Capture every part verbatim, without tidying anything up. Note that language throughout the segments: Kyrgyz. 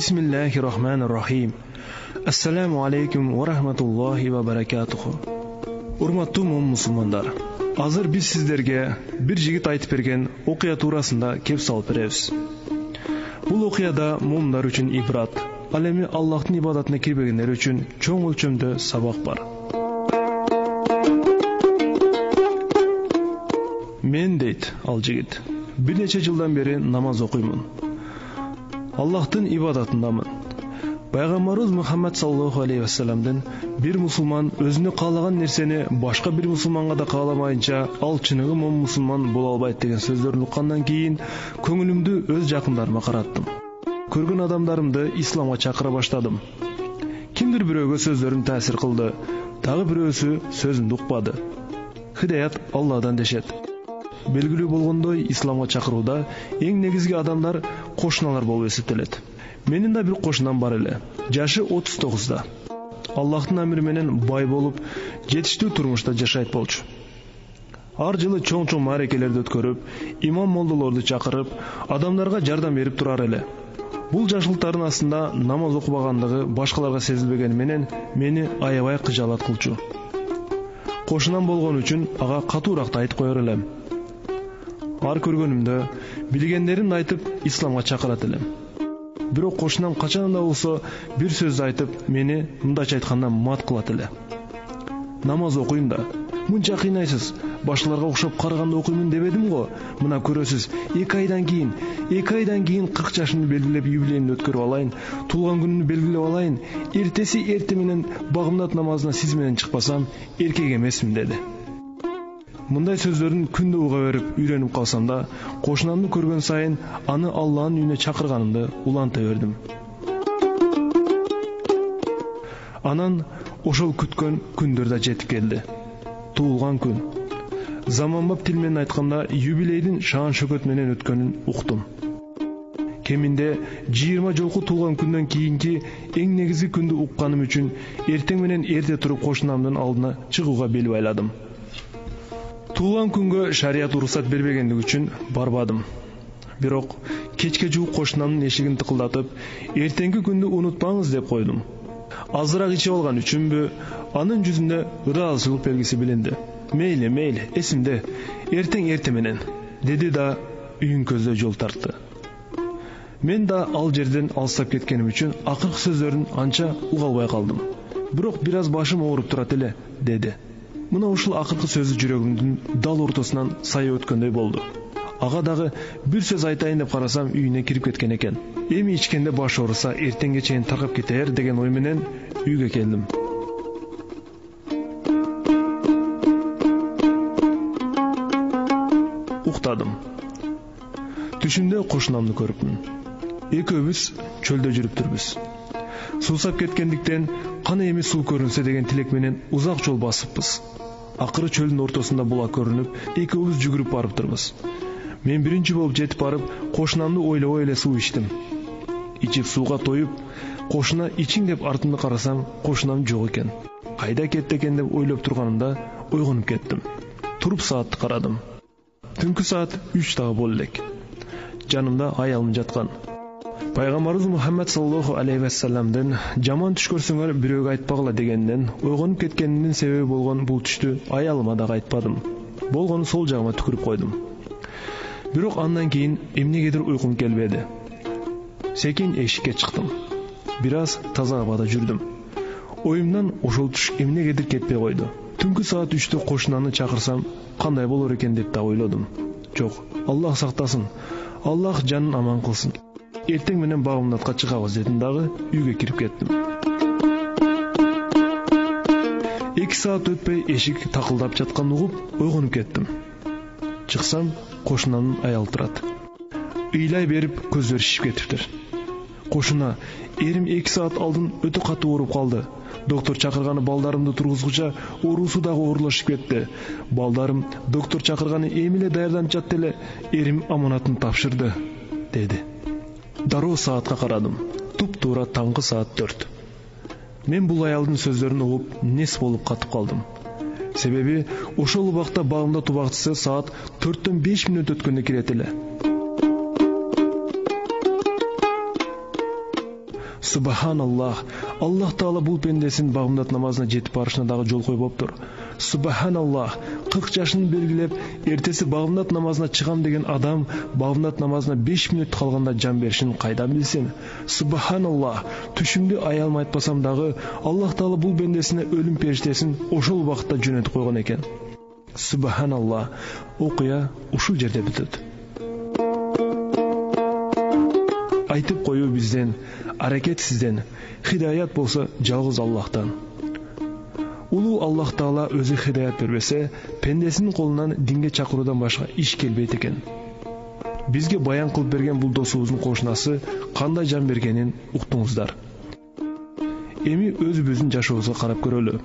Бисмиллахир-рахманир-рахим. Ассаламу алейкум ва рахматуллахи ва баракатуху. Урматтуу мусулмандар, азыр биз сиздерге бир жигит айтып берген окуя туурасында кеп салып беребиз. Бул окуяда мумдар үчүн ибрат, ал эми Аллахтын ибадатына кирбегендер үчүн чоң өлчөмдө сабак бар. Мен дейт ал жигит, бир нече жылдан бери намаз окуймун. Аллахтын ибадатындамын. Пайгамбарыбыз Мухаммад саллаллаху алейхи ва салламдан бир мусулман өзүнө каалаган нерсени башка бир мусулманга да кааламайынча ал чыныгы момун мусулман боло албайт деген сөздөрүн уккандан кийин көңүлүмдү өз жакындарыма караттым. Көргөн адамдарымды исламга чакыра баштадым. Кимдир бирөөгө сөздөрүм таасир кылды, дагы бирөөсү сөзүмдү укпады. Хидаят Алладан дешет. Белгилүү болгондой, исламга чакырууда эң негизги адамдар кошуналар болуп эсептелет. Менин да бир кошунам бар эле. Жашы отуз тогузда. Аллахтын амри менен бай болуп, жетиштүү турмушта жашайт болчу. Ар жылы чоң-чоң маарекелерди өткөрүп, имам молдолорду чакырып, адамдарга жардам берип турар эле. Бул жашылтардын астында намаз окубагандыгы башкаларга сезилбегени менен мени аябай кыжаалат кылчу. Кошунам болгон үчүн ага катуураак айтып коер элем. Ар көргөнүмдө билгендеримди айтып исламга чакырат элем. Бирок кошунам качан да болсо бир сөздү айтып мени мындайча айтканда мат кылат эле. Намаз окуйм да, мынча кыйнайсыз, башкаларга окшоп караганда окуймун дебедим го. Мына көрөсүз, эки айдан кийин, эки айдан кийин кырк жашымды белгилеп юбилейимди өткөрүп алайын, туулган күнүмдү белгилеп алайын. Эртеси эрте менен багымдат намазына сиз менен чыкпасам, эркек эмесмин деди. Мындай сөздөрүн күндө уга берип үйрөнүп калсам да, кошунамды көргөн сайын аны Аллахтын үйүнө чакырганымды уланта бердим. Анан ошол күткөн күндөр да жетип келди. Туулган күн. Заманбап тил менен айтканда, юбилейдин шаан шөкөт менен өткөнүн уктум. Кеминде жыйырма жолку туулган күндөн кийинки эң негизги күндү укканым үчүн эртең менен эрте туруп кошунамдын алдына чыгууга бел байладым. Туулган күнгө шарият уруксат бербегендиги үчүн барбадым. Бирок кечке жуук кошунамдын эшигин тыкылдатып, эртеңки күндү унутпаңыз деп койдум. Азыраак ичип алган үчүнбү, анын жүзүндө ыраазычылык белгиси билинди. Мейли, мейли, эсимде, эртең эрте менен, деди да үйүн көздөй жол тартты. Мен да ал жерден алыстап кеткеним үчүн акыркы сөздөрүн анча уга албай калдым. Бирок бир аз башым ооруп турат эле, деди. Мына ушул акыркы сөзү жүрөгүмдүн дал ортосунан сая өткөндөй болду. Ага дагы бир сөз айтайын деп карасам, үйүнө кирип кеткен экен. Эми ичкенде баш ооруса, эртеңге чейин таркап кетер деген ой менен үйгө келдим. Уктадым. Түшүмдө кошунамды көрүпмүн. Экөөбүз чөлдө жүрүптүрбүз. Суусап кеткендиктен кана эми суу көрүнсө деген тилек менен узак жол басыппыз. Акыры чөлдүн ортосунда булак көрүнүп, экөөбүз жүгүрүп барыптырбыз. Мен биринчи болуп жетип барып, кошунамды ойлобой эле суу ичтим. Ичип сууга тоюп, кошуна ичиң деп артымды карасам, кошунам жок экен. Кайда кетти экен деп ойлоп турганымда ойгонуп кеттим. Туруп саатты карадым. Түнкү саат үч дагы боло элек. Жанымда аялым жаткан. Пайгамбарыбыз Мухаммад саллаллаху алейхи ва салламдан жаман түш көрсөңөр бирөөгө айтпагыла дегенден ойгонуп кеткенимдин себеби болгон бул түштү аялыма дагы айтпадым. Болгону сол жагыма түкүрүп койдум. Бирок андан кийин эмнегедир уйкум келбеди. Секин эшикке чыктым. Бир аз таза абада жүрдүм. Оюмдан ошол түш эмнегедир кетпей койду. Түнкү саат үчтө кошунаны чакырсам кандай болор экен деп да ойлодум. Жок, Аллах сактасын. Аллах жанын аман кылсын. Эртең менен багымдатка чыгабыз дедим дагы үйгө кирип кеттим. эки саат өтпөй эшик такылдап жаткан угуп ойгонуп кеттим. Чыксам, кошунамдын аялы турат. Ыйлай берип көздөр шишип кетиптир. Кошуна, эрим эки саат алдын өтө катуу ооруп калды. Доктор чакырганы балдарымды тургузгуча оорусу дагы оорлошуп кетти. Балдарым доктор чакырганы эми эле даярданып жатты эле, эрим аманатын тапшырды, деди. Дароо саатка карадым. Туп-туура таңкы саат төрт. Мен бул аялдын сөздөрүн угуп, нес болуп катып калдым. Себеби ошол убакта багымдат убактысы саат төрттөн беш мүнөт өткөндө кирет эле. Субханаллах, Аллах Таала бул пендесин багымдат намазына жетип барышына дагы жол койбоптур. Субханаллах, кырк жашын белгилеп, эртеси багымдат намазына чыгам деген адам багымдат намазына беш мүнөт калганда жан беришин кайдан билсин? Субханаллах, түшүмдү аялмай айтпасам дагы Аллах Таала бул пендесине өлүм периштесин ошол убакытта жөнөтүп койгон экен. Субханаллах, окуя ушул жерде бүтөт. Айтып коюу бизден, аракет сизден, хидаят болсо жалгыз Аллахтан. Улуу Аллах Таала өзү хидаят бербесе, пендесинин колунан динге чакыруудан башка иш келбейт экен. Бизге баян кылып берген бул досубуздун кошунасы кандай жан бергенин уктуңуздар. Эми өзүбүздүн жашообузга карап көрөлү.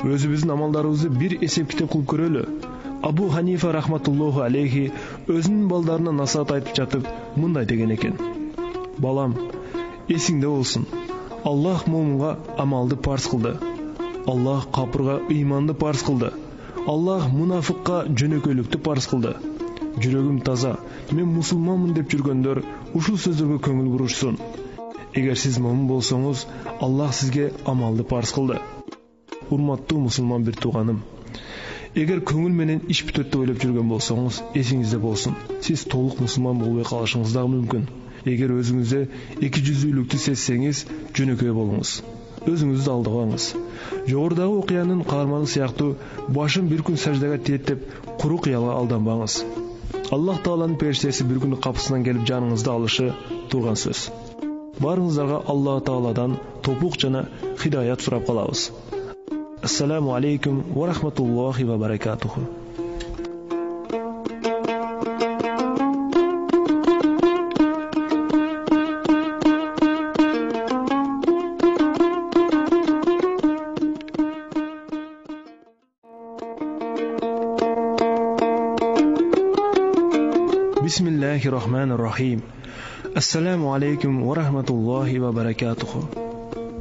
Өзүбүздүн амалдарыбызды бир эсеп китеп кылып көрөлү. Абу Ханифа рахматуллаху алейхи өзүнүн балдарына насаат айтып жатып мындай деген экен: балам, эсиңде болсун, Аллах момунга амалды парз кылды. Аллах капырга ыйманды парз кылды. Аллах мунафыкка жөнөкөйлүктү парз кылды. Жүрөгүм таза, мен мусулманмын деп жүргөндөр ушул сөздөргө көңүл бурушсун. Эгер сиз момун болсоңуз, Аллах сизге амалды парз кылды. Урматтуу мусулман бир тууганым, эгер көңүл менен иш бүтөт деп ойлоп жүргөн болсоңуз, эсиңизде болсун, сиз толук мусулман болбой калышыңыз дагы мүмкүн. Эгер өзүңүздө эки жүздүүлүктү сезсеңиз, жөнөкөй болуңуз. Өзүңүздү алдабаңыз. Жогорудагы окуянын каарманы сыяктуу башын бир күн саждага тиет деп куру кыялга алданбаңыз. Аллах Тааланын периштеси бир күнү капысынан келип жаныңызды алышы турган сөз. Барыңыздарга Аллах Тааладан топук жана хидаят сурап калабыз. Ассаламу алейкум ва рахматуллахи ва баракатуху. Бисмиллахир-рахманир-рахим. Ассаламу алейкум ва рахматуллахи ва баракатуху.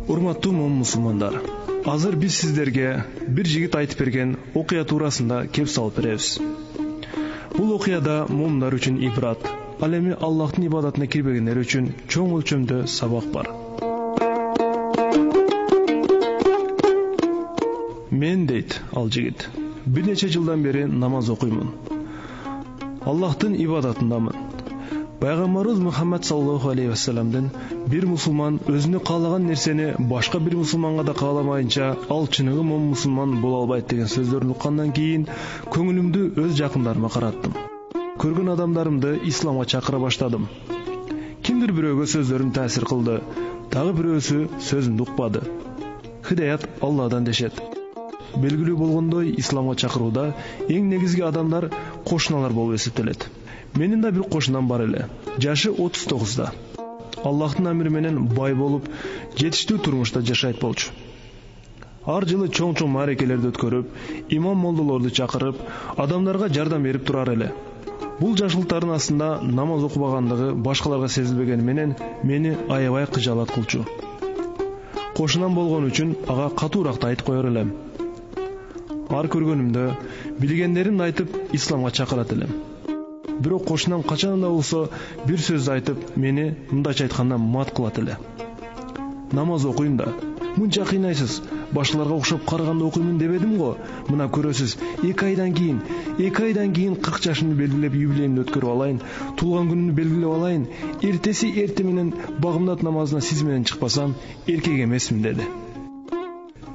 Урматтуу момун мусулмандар, азыр биз сиздерге бир жигит айтып берген окуя туурасында кеп салып беребиз. Бул окуяда момундар үчүн ибрат, ал эми Аллахтын ибадатына кирбегендер үчүн чоң өлчөмдө сабак бар. Мен дейт ал жигит, бир нече жылдан бери намаз окуймун. Аллахтын ибадатындамын. Пайгамбарыбыз Мухаммад саллаллаху алейхи ва салламдын бир мусулман өзүнө каалаган нерсени башка бир мусулманга да кааламайынча ал чыныгы момун мусулман боло албайт деген сөздөрүн уккандан кийин көңүлүмдү өз жакындарыма караттым. Көргөн адамдарымды исламга чакыра баштадым. Кимдир бирөөгө сөздөрүм таасир кылды, дагы бирөөсү сөзүмдү укпады. Хидаят Алладан дешет. Белгилүү болгондой, исламга чакырууда эң негизги адамдар кошуналар болуп эсептелет. Менин да бир кошунам бар эле. Жашы отуз тогузда. Аллахтын амри менен бай болуп, жетиштүү турмушта жашайт болчу. Ар жылы чоң-чоң маарекелерди өткөрүп, имам молдолорду чакырып, адамдарга жардам берип турар эле. Бул жашылтардын астында намаз окубагандыгы башкаларга сезилбегени менен мени аябай кыжаалат кылчу. Кошунам болгон үчүн ага катуураак айтып коер элем. Ар көргөнүмдө билгендеримди айтып исламга чакырат элем. Бирок кошунам качан да болсо бир сөздү айтып мени мындайча айтканда мат кылат эле. Намаз окуйм да, мынча кыйнайсыз, башкаларга окшоп караганда окуймун дебедим го. Мына көрөсүз, эки айдан кийин, эки айдан кийин кырк жашымды белгилеп юбилейимди өткөрүп алайын, туулган күнүмдү белгилеп алайын, эртеси эрте менен багымдат намазына сиз менен чыкпасам, эркек эмесмин деди.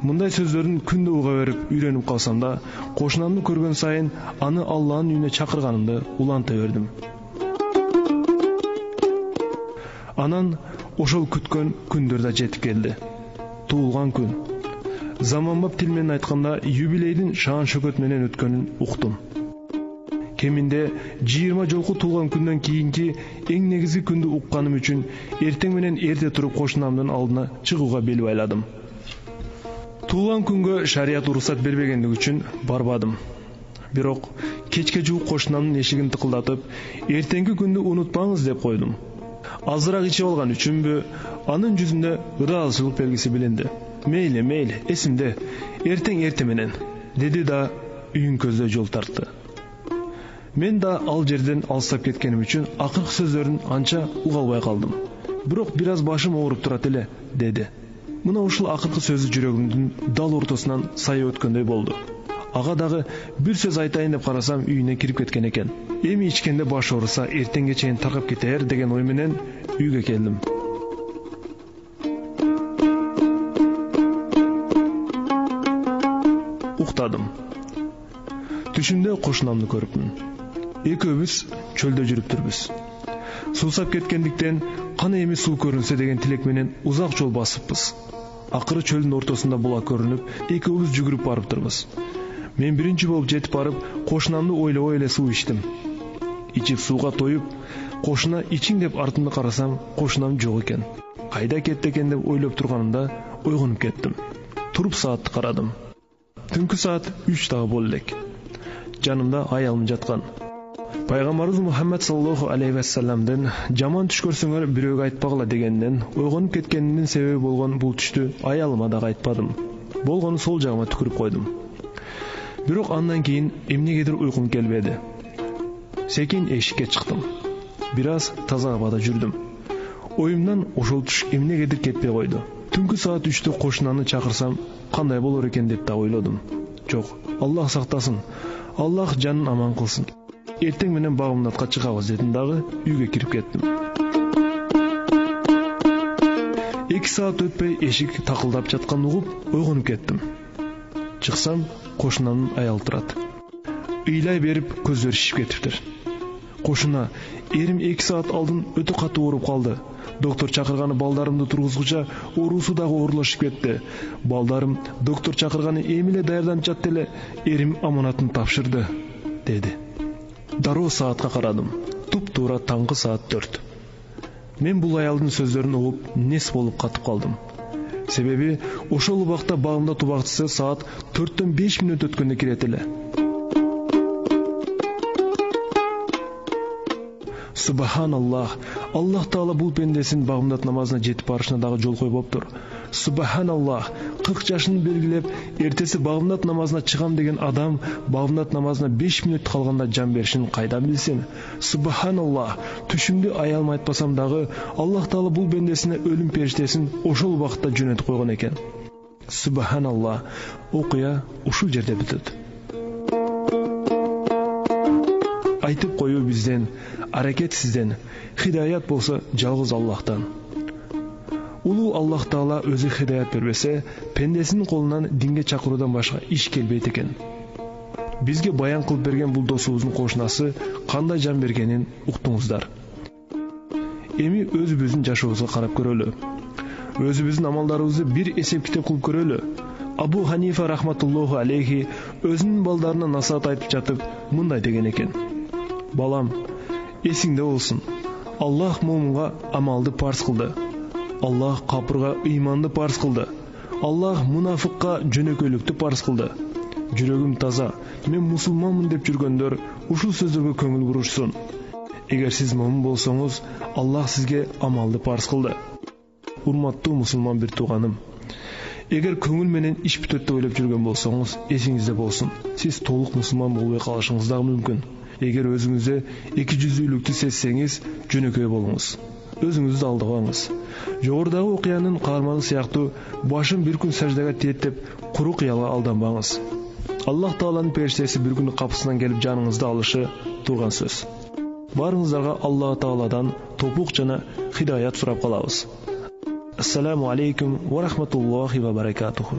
Мындай сөздөрүн күндө уга берип үйрөнүп калсам да, кошунамды көргөн сайын аны Аллахтын үйүнө чакырганымды уланта бердим. Анан ошол күткөн күндөр да жетип келди. Туулган күн. Заманбап тил менен айтканда, юбилейдин шаан шөкөт менен өткөнүн уктум. Кеминде жыйырма жолку туулган күндөн кийинки эң негизги күндү укканым үчүн эртең менен эрте туруп кошунамдын алдына чыгууга бел байладым. Туулган күнгө шарият уруксат бербегендиги үчүн барбадым. Бирок кечке жуук кошунамдын эшигин тыкылдатып, эртеңки күндү унутпаңыз деп койдум. Азыраак ичип алган үчүнбү, анын жүзүндө ыраазычылык белгиси билинди. Мейли, мейли, эсимде, эртең эрте менен, деди да үйүн көздөй жол тартты. Мен да ал жерден алыстап кеткеним үчүн акыркы сөздөрүн анча уга албай калдым. бирок бир аз башым ооруп турат эле, деди. Мына ушул акыркы сөзү жүрөгүмдүн дал ортосунан сая өткөндөй болду. Ага дагы бир сөз айтайын деп карасам, үйүнө кирип кеткен экен. Эми ичкенде баш ооруса, эртеңге чейин таркап кетер деген ой менен үйгө келдим. Уктадым. Түшүмдө кошунамды көрүпмүн. Экөөбүз чөлдө жүрүптүрбүз. Суусап кеткендиктен кана эми суу көрүнсө деген тилек менен узак жол басыппыз. Акыры чөлдүн ортосунда булак көрүнүп, экөөбүз жүгүрүп барыптырбыз. Мен биринчи болуп жетип барып, кошунамды ойлобой эле суу ичтим. Ичип сууга тоюп, кошуна ичиң деп артымды карасам, кошунам жок экен. Кайда кетти экен деп ойлоп турганымда ойгонуп кеттим. Туруп саатты карадым. Түнкү саат үч дагы болду элек. Жанымда аялым жаткан. Пайгамбарыбыз Мухаммад саллаллаху алейхи вассаламдын жаман түш көрсөңөр бирөөгө айтпагыла дегенден ойгонуп кеткенимдин себеби болгон бул түштү аялыма дагы айтпадым. Болгону сол жагыма түкүрүп койдум. Бирок андан кийин эмнегедир уйкум келбеди. Секин эшикке чыктым. Бир аз таза абада жүрдүм. Оюмдан ошол түш эмнегедир кетпей койду. Түнкү саат үчтө кошунаны чакырсам кандай болор экен деп да ойлодум. Жок, Аллах сактасын. Аллах жанын аман кылсын. Эртең менен багымдатка чыгабыз дедим дагы үйгө кирип кеттим. эки саат өтпөй эшик такылдап жатканын угуп ойгонуп кеттим. Чыксам, кошунанын аялы турат. Ыйлай берип көздөр шишип кетиптир. Кошуна: "Эрим эки саат алдын өтө катуу ооруп калды. Доктор чакырганы балдарымды тургузгуча оорусу дагы оорлошуп кетти. Балдарым доктор чакырганы эми эле даярданып жатты эле. Эрим аманатын тапшырды", деди. Дароо саатка карадым. Туп-туура таңкы саат төрт. Мен бул аялдын сөздөрүн угуп нес болуп катып калдым. Себеби ошол убакта багымда тубакчысы саат төрттөн беш мүнөт өткөндө кирет эле. Субханаллах, Аллах Таала бул пендесин багымдат намазына жетип барышына дагы жол койбоптур. Субханаллах, кырк жашын белгилеп, эртеси багымдат намазына чыгам деген адам багымдат намазына беш мүнөт калганда жан беришин кайдан билсин? Субханаллах, түшүмдү аялыма айтпасам дагы Аллах Таала бул пендесине өлүм периштесин ошол убакытта жөнөтүп койгон экен. Субханаллах, окуя ушул жерде бүтөт. Айтып коюу бизден, аракет сизден, хидаят болсо жалгыз Аллахтан. Улуу Аллах Таала өзү хидаят бербесе, пендесинин колунан динге чакыруудан башка иш келбейт экен. Бизге баян кылып берген бул досубуздун кошунасы кандай жан бергенин уктуңуздар. Эми өзүбүздүн жашообузга карап көрөлү. Өзүбүздүн амалдарыбызды бир эсеп китеп кылып көрөлү. Абу Ханифа рахматуллаху алейхи өзүнүн балдарына насаат айтып жатып мындай деген экен: "Балам, эсиңде болсун. Аллах мумунга амалды парз кылды. Аллах капырга ыйманды парз кылды. Аллах мунафыкка жөнөкөйлүктү парз кылды. Жүрөгүм таза, мен мусулманмын деп жүргөндөр ушул сөздөргө көңүл бурушсун. Эгер сиз мумун болсоңуз, Аллах сизге амалды парз кылды." Урматтуу мусулман бир тууганым, эгер көңүл менен иш бүтөт деп ойлоп жүргөн болсоңуз, эсиңизде болсун, сиз толук мусулман болбой калышыңыз дагы мүмкүн. Эгер өзүңүздө эки жүздүүлүктү сезсеңиз, жөнөкөй болуңуз. Өзүңүздү алдабаңыз. Жогорудагы окуянын каарманы сыяктуу башын бир күн саждага тиет деп куру кыялга алданбаңыз. Аллах Тааланын периштеси бир күнү капысынан келип жаныңызды алышы турган сөз. Барыңыздарга Аллах Тааладан топук жана хидаят сурап калабыз. Ассаламу алейкум ва рахматуллахи ва баракатуху.